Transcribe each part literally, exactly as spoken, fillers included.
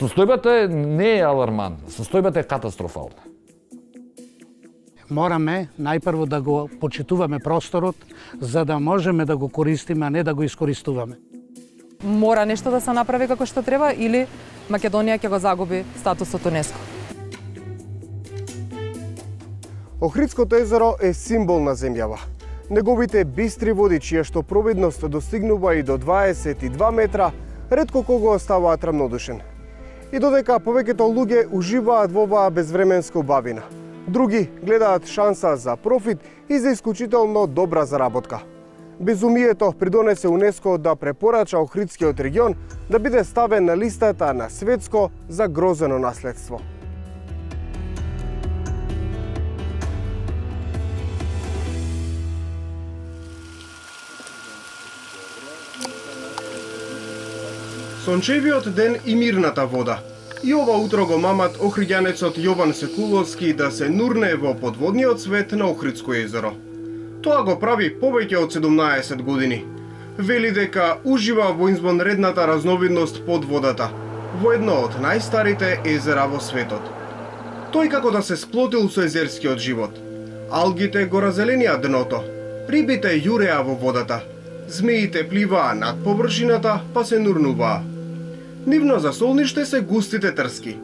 Состојбата не е алармантна, состојбата е катастрофална. Мораме најпрво да го почитуваме просторот, за да можеме да го користиме, а не да го искористуваме. Мора нешто да се направи како што треба или Македонија ќе го загуби статусот УНЕСКО. Охридското езеро е символ на земјава. Неговите бистри води, чија што пробидност достигнува и до дваесет и два метра, ретко кого оставаат рамнодушен. И додека повеќето луѓе уживаат во оваа безвременска убавина, други гледаат шанса за профит и за исклучително добра заработка. Безумието придонесе УНЕСКО да препорача Охридскиот регион да биде ставен на листата на светско загрозено наследство. Сончевиот ден и мирната вода. И ова утро го мамат охриѓанецот Јован Секуловски да се нурне во подводниот свет на Охридско езеро. Тоа го прави повеќе од седумнаесет години. Вели дека ужива во извонредната разновидност под водата, во едно од најстарите езера во светот. Тој како да се сплотил со езерскиот живот. Алгите го разеленија дното, рибите јуреа во водата, змеите пливаа над површината па се нурнуваа. Нивно засолниште се густите трски.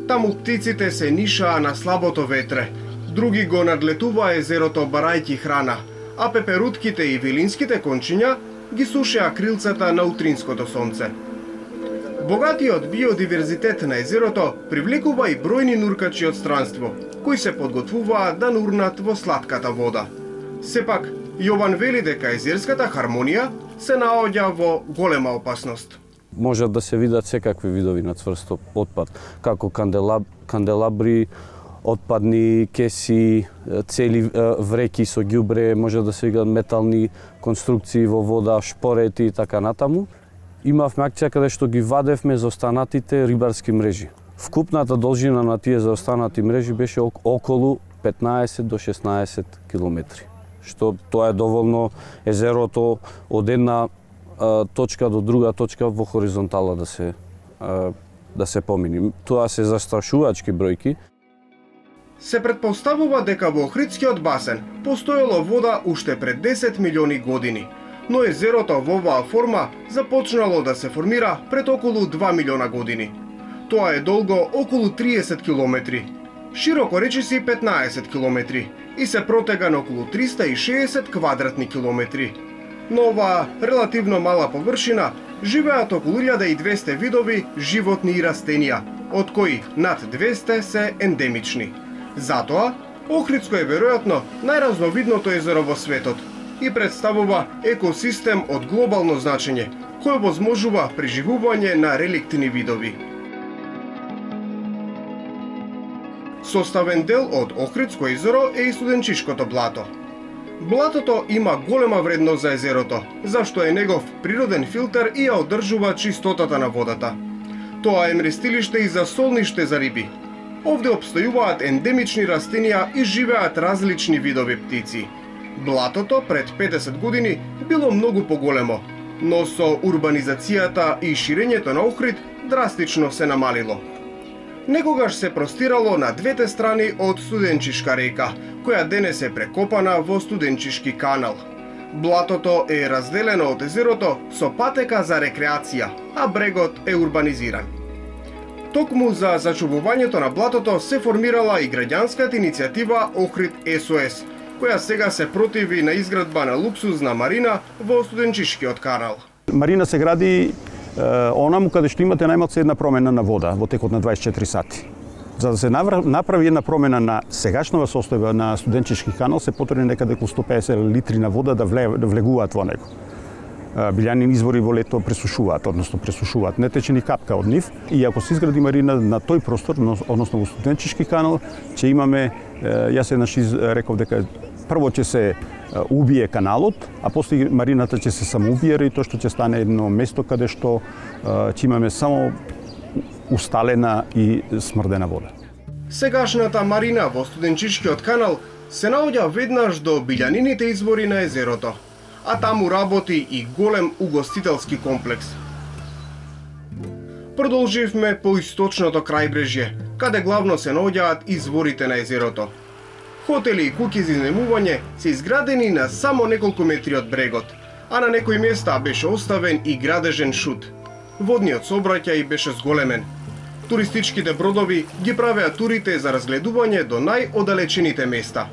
Таму птиците се нишаа на слабото ветре, други го надлетуваа езерото барајќи храна, а пеперутките и вилинските кончиња ги сушеа крилцата на утринското сонце. Богатиот биодиверзитет на езерото привлекува и бројни нуркачи од странство, кои се подготвуваат да нурнат во сладката вода. Сепак, Јован вели дека езерската хармонија се наоѓа во голема опасност. Можат да се видат секакви видови на цврст отпад, како канделаб, канделабри, отпадни кеси, цели вреки со ѓубре, може да се видат метални конструкции во вода, шпорети и така натаму. Имавме акција каде што ги вадевме за останатите рибарски мрежи. Вкупната должина на тие заостанати мрежи беше околу петнаесет до шеснаесет километри. Што тоа е доволно езерото од една а, точка до друга точка во хоризонтала да се а, да се помини. Тоа се застрашувачки бројки. Се претпоставува дека во Охридскиот басен постоело вода уште пред десет милиони години, но езерото во оваа форма започнало да се формира пред околу два милиона години. Тоа е долго околу триесет километри, широко речиси петнаесет километри и се протега на околу триста и шеесет квадратни километри. На оваа релативно мала површина живеат околу илјада и двесте видови животни и растенија, од кои над двесте се ендемични. Затоа, Охридско е веројатно најразновидното езеро во светот и представува екосистем од глобално значење, кој возможува преживување на реликтни видови. Составен дел од Охридско езеро е и Студенчишкото блато. Блатото има голема вредност за езерото, зашто е негов природен филтер и ја одржува чистотата на водата. Тоа е мрестилиште и за солниште за риби. Овде обстојуваат ендемични растенија и живеат различни видови птици. Блатото пред петдесет години било многу поголемо, но со урбанизацијата и ширењето на Охрид драстично се намалило. Некогаш се простирало на двете страни од Студенчишка река, која денес е прекопана во Студенчишки канал. Блатото е разделено од езерото со патека за рекреација, а брегот е урбанизиран. Токму за зачувувањето на блатото се формирала и граѓанската иницијатива Охрид Ес О Ес, која сега се противи на изградба на луксузна марина во Студенчишкиот канал. Марина се гради онаму каде што имате најмалку една промена на вода во текот на дваесет и четири сати. За да се направи една промена на сегашнава состојба на Студенчишки канал, се потребни некаде околу сто педесет литри на вода да, вле, да влегуваат во него. Билјани извори во лето пресушуваат, односно пресушуваат, не тече ни капка од нив. И ако се изгради марина на тој простор, односно во Студенчишки канал, ќе имаме, јас еднаш реков дека прво ќе се убие каналот, а после марината ќе се самоубие и тоа што ќе стане едно место каде што ќе имаме само усталена и смрдена вода. Сегашната марина во Студенчишкиот канал се наоѓа веднаш до билјанините извори на езерото, а таму работи и голем угостителски комплекс. Продолживме по источното крајбрежје, каде главно се наоѓаат изворите на езерото. Хотели и куќи за изнемување се изградени на само неколку метри од брегот, а на некои места беше оставен и градежен шут. Водниот сообраќај беше зголемен. Туристичките бродови ги правеа турите за разгледување до најодалечените места.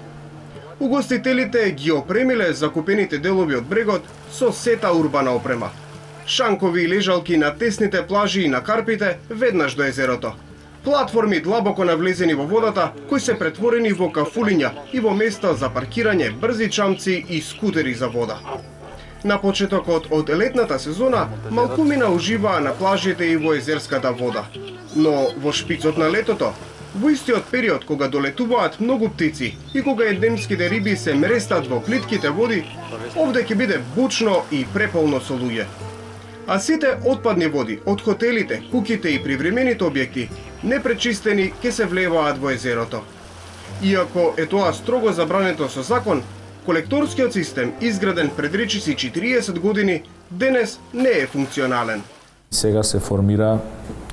Угостителите ги опремиле закупените делови од брегот со сета урбана опрема. Шанкови и лежалки на тесните плажи и на карпите веднаш до езерото. Платформи длабоко навлезени во водата, кои се претворени во кафулиња и во места за паркирање брзи чамци и скутери за вода. На почетокот од летната сезона, малкумина уживаа на плажите и во езерската вода. Но во шпицот на летото, во истиот период кога долетуваат многу птици и кога ендемските риби се мрестат во плитките води, овде ќе биде бучно и преполно со луѓе. А сите отпадни води од хотелите, куќите и привремените објекти, непречистени, ќе се влеваат во езерото. Иако е тоа строго забрането со закон, колекторскиот систем, изграден пред речиси четириесет години, денес не е функционален. Сега се формира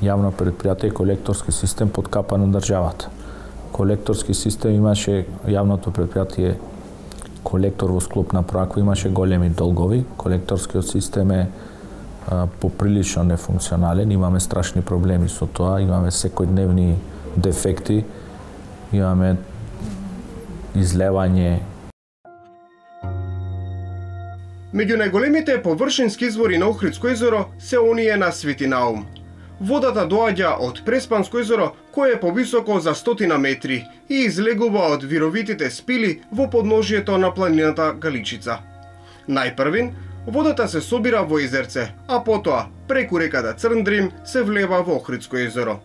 јавно предпријатие колекторски систем под капа на државата. Колекторски систем имаше јавното предпријатие колектор во склоп на Проаква, имаше големи долгови. Колекторскиот систем е а, поприлично нефункционален, имаме страшни проблеми со тоа, имаме секојдневни дефекти, имаме излевање. Меѓу најголемите површински извори на Охридско езеро се оние на Свети Наум. Водата доаѓа од Преспанско езеро, кое е повисоко за стотина метри и излегува од вировитите спили во подножието на планината Галичица. Најпрвин, водата се собира во езерце, а потоа, преку реката Црндрим, се влева во Охридско езеро.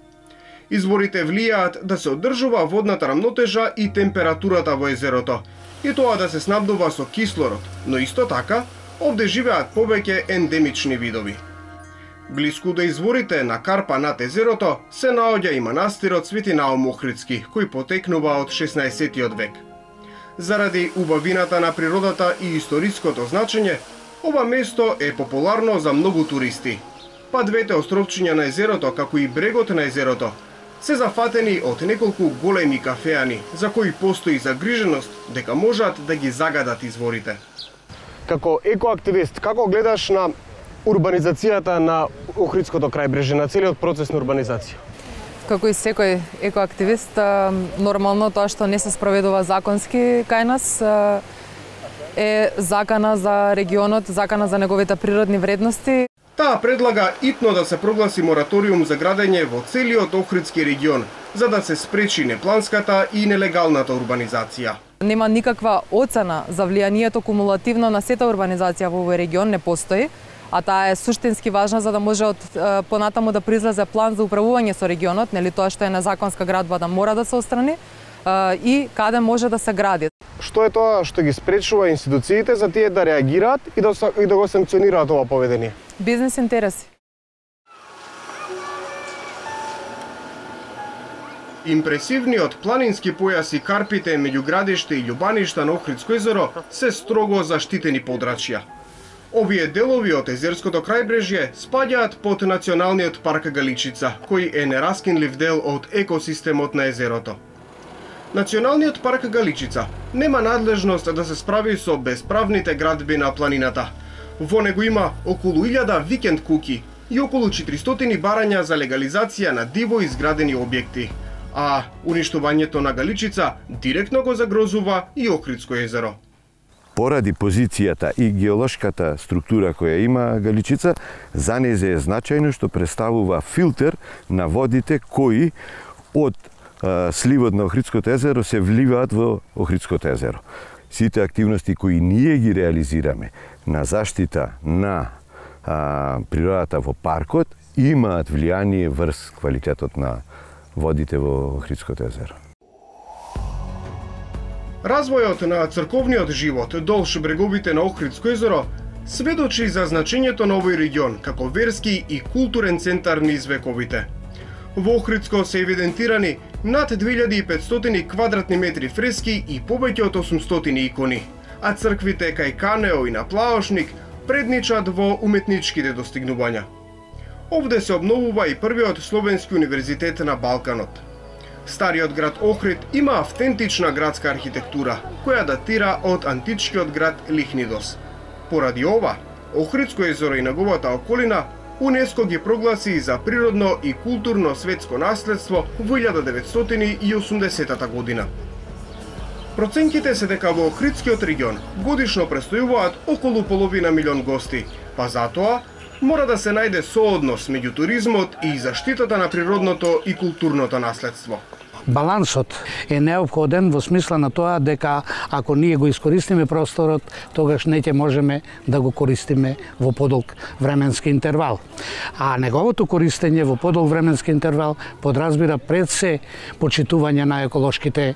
Изворите влијаат да се одржува водната рамнотежа и температурата во езерото, и тоа да се снабдува со кислород, но исто така, овде живеат повеќе ендемични видови. Блиску до изворите на карпа над езерото се наоѓа и манастирот Свети Наум Охридски, кој потекнува од шеснаесеттиот век. Заради убавината на природата и историското значење, ова место е популарно за многу туристи. Па двете островчиња на езерото, како и брегот на езерото, се зафатени од неколку големи кафеани, за кои постои загриженост дека можат да ги загадат изворите. Како екоактивист, како гледаш на урбанизацијата на Охридското крајбрежје, на целиот процес на урбанизација? Како и секој екоактивист, нормално тоа што не се спроведува законски кај нас е закана за регионот, закана за неговите природни вредности. Таа предлага итно да се прогласи мораториум за градење во целиот Охридски регион, за да се спречи непланската и нелегалната урбанизација. Нема никаква оцена за влијанието кумулативно на сета урбанизација во овој регион, не постои, а таа е суштински важна за да може од понатаму да произлезе план за управување со регионот, нели тоа што е незаконска градба да мора да се отстрани и каде може да се гради. Што е тоа што ги спречува институциите за тие да реагираат и да, и да го санкционираат ова поведение? Бизнес интереси. Импресивниот планински појас и карпите меѓу градиште и љубаништа на Охридско езеро се строго заштитени подрачја. Овие делови од езерското крајбрежје спаѓаат под Националниот парк Галичица, кој е нераскинлив дел од екосистемот на езерото. Националниот парк Галичица нема надлежност да се справи со бесправните градби на планината. Во него има околу илјада викенд куќи и околу четиристотини барања за легализација на диво изградени објекти, а уништувањето на Галичица директно го загрозува и Охридско езеро. Поради позицијата и геолошката структура која има Галичица, за незе е значајно што представува филтер на водите кои од а, сливот на Охридското езеро се вливаат во Охридското езеро. Сите активности кои ние ги реализираме на заштита на а, природата во паркот имаат влијание врз квалитетот на водите во Охридското езеро. Развојот на црковниот живот долж бреговите на Охридско езеро сведочи за значењето на овој регион како верски и културен центар низ вековите. Во Охридско се евидентирани над две илјади и петстотини квадратни метри фрески и повеќе од осумстотини икони, а црквите кај Канео и на Плаошник предничат во уметничките достигнувања. Овде се обновува и првиот словенски универзитет на Балканот. Стариот град Охрид има автентична градска архитектура, која датира од античкиот град Лихнидос. Поради ова, Охридско езеро и неговата околина УНЕСКО ги прогласи за природно и културно светско наследство во илјада деветстотини и осумдесетата година. Проценките се дека во Охридскиот регион годишно престојуваат околу половина милион гости, па затоа мора да се најде сооднос меѓу туризмот и заштитата на природното и културното наследство. Балансот е неопходен во смисла на тоа дека ако ние го искористиме просторот, тогаш не ќе можеме да го користиме во подолг временски интервал. А неговото користење во подолг временски интервал подразбира пред се почитување на еколошките е,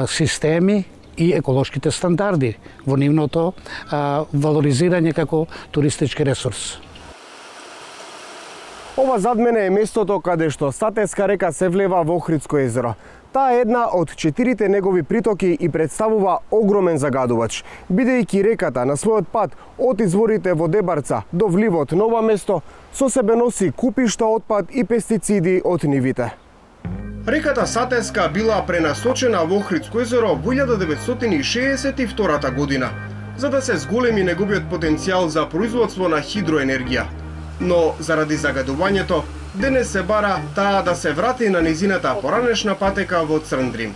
системи и еколошките стандарди во нивното е, валоризирање како туристички ресурс. Ова зад мене е местото каде што Сатеска река се влева во Охридско езеро. Таа е една од четирите негови притоки и представува огромен загадувач, бидејќи реката на својот пат од изворите во Дебарца до вливот Ново место со себе носи купишта отпад и пестициди од нивите. Реката Сатеска била пренасочена во Охридско езеро во илјада деветстотини шеесет и втора година, за да се зголеми неговиот потенцијал за производство на хидроенергија. Но заради загадувањето, денес се бара таа да се врати на низината поранешна патека во Црндрим.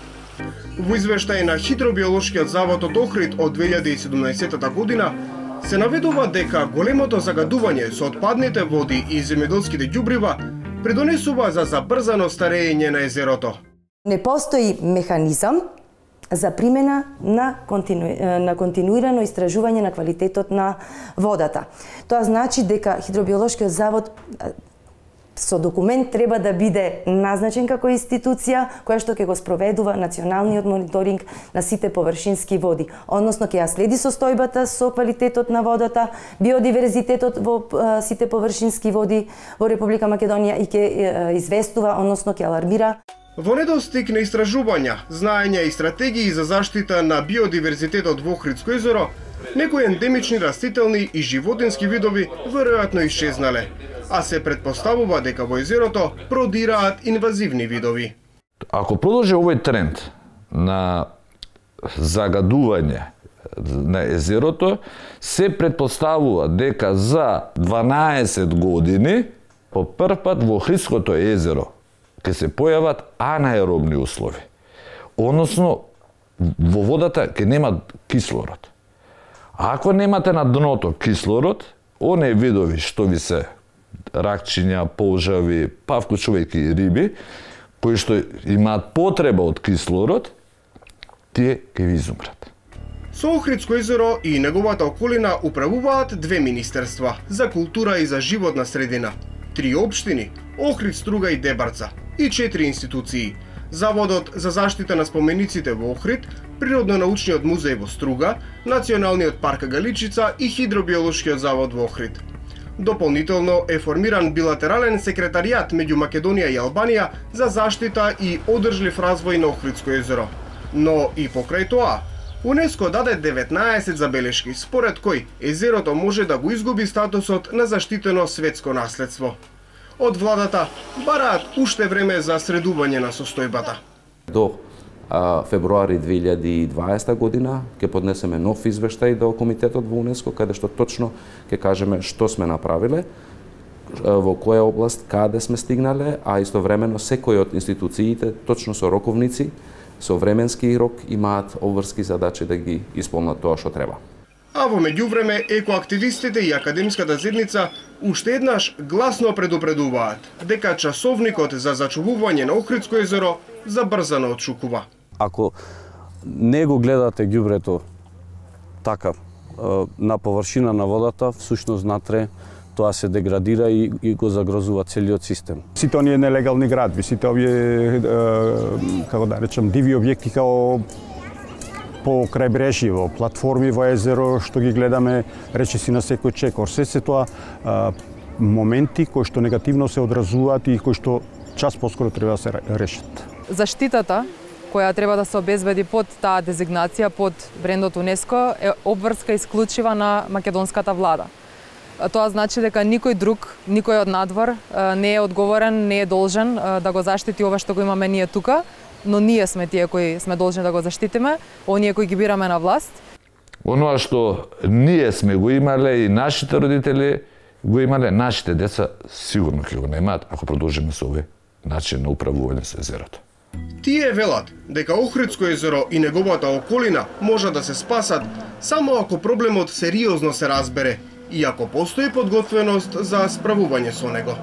Во извештај на Хидробиолошкиот завод од Охрид од две илјади и седумнаесетта година се наведува дека големото загадување со отпадните води и земјоделските ѓубрива придонесува за забрзано старење на езерото. Не постои механизам за примена на, контину... на континуирано истражување на квалитетот на водата. Тоа значи дека Хидробиолошкиот завод со документ треба да биде назначен како институција која што ќе го спроведува националниот мониторинг на сите површински води, односно ќе ја следи состојбата со квалитетот на водата, биодиверзитетот во сите површински води во Република Македонија и ќе известува, односно ќе алармира. Во недостиг на истражувања, знаења и стратегии за заштита на биодиверзитетот во Охридско езеро, некои ендемични растителни и животински видови веројатно исчезнале, а се претпоставува дека во езерото продираат инвазивни видови. Ако продолжи овој тренд на загадување на езерото, се претпоставува дека за дванаесет години по прв пат во Охридското езеро ќе се појават анаеробни услови. Односно, во водата ќе нема кислород. А ако немате на дното кислород, оние видови што ви се ракчиња, полжави, па вклучувајќи и риби, кои што имаат потреба од кислород, тие ќе ви изумрат. Со Охридско езеро и неговата околина управуваат две министерства за култура и за животна средина, три општини, Охрид, Струга и Дебарца, и четири институции: Заводот за заштита на спомениците во Охрид, Природно-научниот музеј во Струга, Националниот парк Галичица и Хидробиолошкиот завод во Охрид. Дополнително е формиран билатерален секретаријат меѓу Македонија и Албанија за заштита и одржлив развој на Охридско езеро. Но и покрај тоа, УНЕСКО даде деветнаесет забелешки, според кои езерото може да го изгуби статусот на заштитено светско наследство. Од владата бараат уште време за средување на состојбата. До а, февруари две илјади и дваесета година ќе поднесеме нов извештај до комитетот во УНЕСКО, каде што точно ќе кажеме што сме направиле, во која област, каде сме стигнале, а истовремено секој од институциите точно со роковници, со временски рок имаат обврски задачи да ги исполнат тоа што треба. А во меѓувреме екоактивистите и академската заедница уште еднаш гласно предупредуваат дека часовникот за зачувување на Охридско езеро забрзано отшукува. Ако не го гледате ѓубрето така на површина на водата, всушност натре тоа се деградира и, и го загрозува целиот систем. Сите оние нелегални градби, сите овие, како да речем, диви објекти као по крајбрежјево, платформи во езеро што ги гледаме речиси на секој чекор. Се се тоа а, моменти кои што негативно се одразуваат и кои што час поскоро треба да се решат. Заштитата која треба да се обезбеди под таа дезигнација, под брендот УНЕСКО, е обврска исклучива на македонската влада. тоа значи дека никој друг, никој од надвор не е одговорен, не е должен да го заштити ова што го имаме ние тука, но ние сме тие кои сме должни да го заштитиме, оние кои ги бираме на власт. Оноа што ние сме го имале и нашите родители го имале, нашите деца сигурно ќе го немаат ако продолжиме со овој начин на управување со езерото. Тие велат дека Охридско езеро и неговата околина може да се спасат само ако проблемот сериозно се разбере и ако постои подготвеност за справување со него.